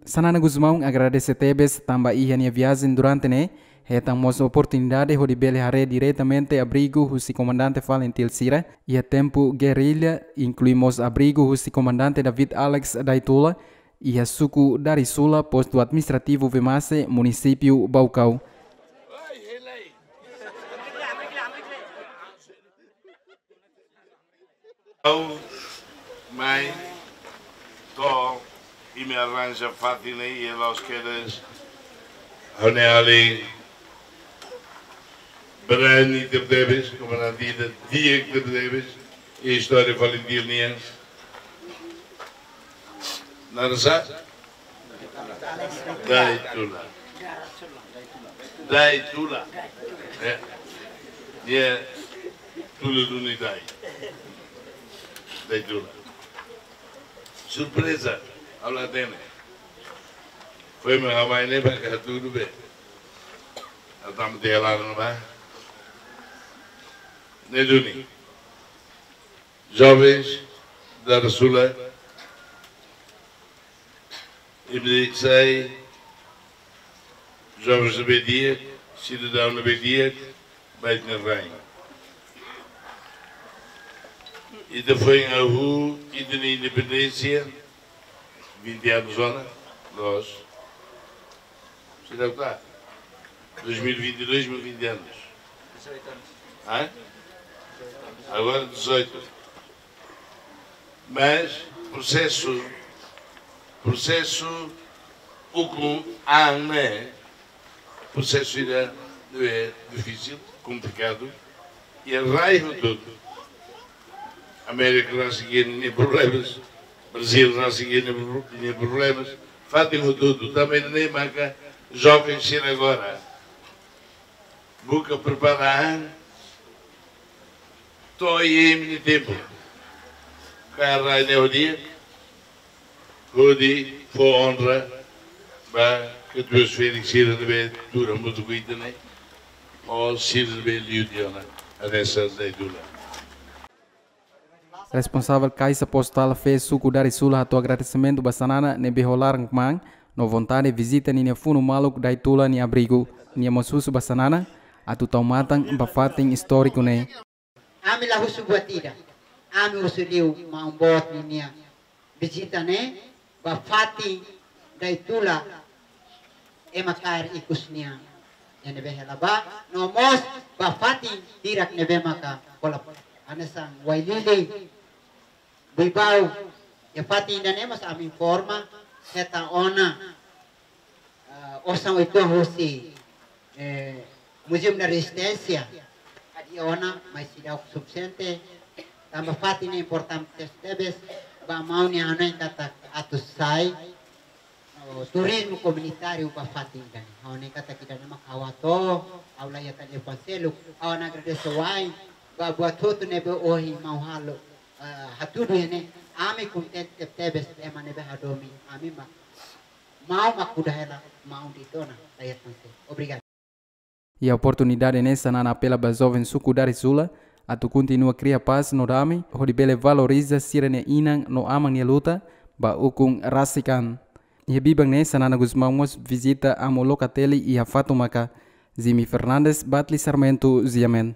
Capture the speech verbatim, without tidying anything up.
Xanana Gusmão agradese tebes tanba iha nia viajen durante ne'e hetan mós oportunidade hodi bele haree diretamente abrigu husi komandante FALINTIL sira iha tempu gerrilla, inklui mós abrigu husi komandante David Alex Daitula iha suku Darisula, postu administrativu Vemase, munisípiu Baucau. Au, mai, to, imi arranja fatin ne'e, i la'ós kedas, ha'u-nia alin brani tebetebes, komandante ida di'ak tebetebes, i istória FALINTIL nian. Naran sá? Daitula. Daitula. É. Nia tula duni Dai. Daitula. Surpreza, ha'u la hatene. Foin mak ha'u mai ne'e ba ka tudo bem. Ha'u tama tiha laran ne'ebá. Ne'e duni. Jovens Darisula, imi sai jovens ne'ebé di'ak, sidadaun ne'ebé di'ak ba ita-nia rain. Ita foin hahú ita-nia independénsia, vinte anos ona, loos. Seidauk tá? Dois mil e vinte e dois, mil vinte anos. Hã? Agora dezoito. Mas prosesu, prosesu ukun an ne'e, prosesu ida ne'ebé difisil, komplikadu, i rai hotu-hotu. Amérika rasik iha nia problemas, Brazil rasik iha nia pro-, nia problemas, fatin hotu-hotu. Tanba ne'e maka joven sira agora buka prepara an, to'o iha imi-nia tempu. Kaer rai ne'e ho di'ak, hodi fó onra ba katuas-ferik sira ne'ebé tuur hamutuk ho ita ne'e, ou sira ne'ebé liu tiha ona, hanesan Daitula. Responsavel Kaixa Postál Fé suku Darisula hato'o agradesimentu ba Xanana ne'ebé ho laran kmaan no vontade vizita ninia funu-maluk Daitula nia abrigu. Nia mós husu ba Xanana atu tau matan ba fatin istóriku ne'e. Ami la husu buat ida. Ami husu liu maun boot ninia vizita ne'e ba fatin Daitula ema kaer ikus nian. Ne'ebé hela ba, no mós ba fatin hirak ne'ebé maka kola hanesan Wailili, Buibau, iha fatin ida-ne'e mós ami informa, hetan ona, eh, osan uitoan husi, eh, Museum da Resistência, hadi'a ona, mas seidauk sufisiente, tanba fatin ne'e importante tebes, ba maun nia hanoin katak atu sai, oh, turizmu komunitáriu ba fatin ida-ne'e. Ha'u hanoin katak ida-ne'e mak ha'u atu, ha'u la iha telefone seluk, ha'u hakarak agradese wa'in, ba buat hotu ne'ebé ohin maun halo, eh, hatudu iha ne'e, ami kontente tebes ema ne'ebé hadomi, ami mak maun mak kuda hela maun Daitula, la iha tan se. Obrigadu. Iha oportunidade ne'e Xanana apela ba joven suku Darisula atu kontinua kria pás no dame, hodi bele valoriza sira-nia inan no aman nia luta ba ukun rasik an. Iha biban ne'e Xanana Gusmão mós vizita amu Locatelli iha Fatumaka. Jimmy Fernandes, Batli Sarmento, Ziamen.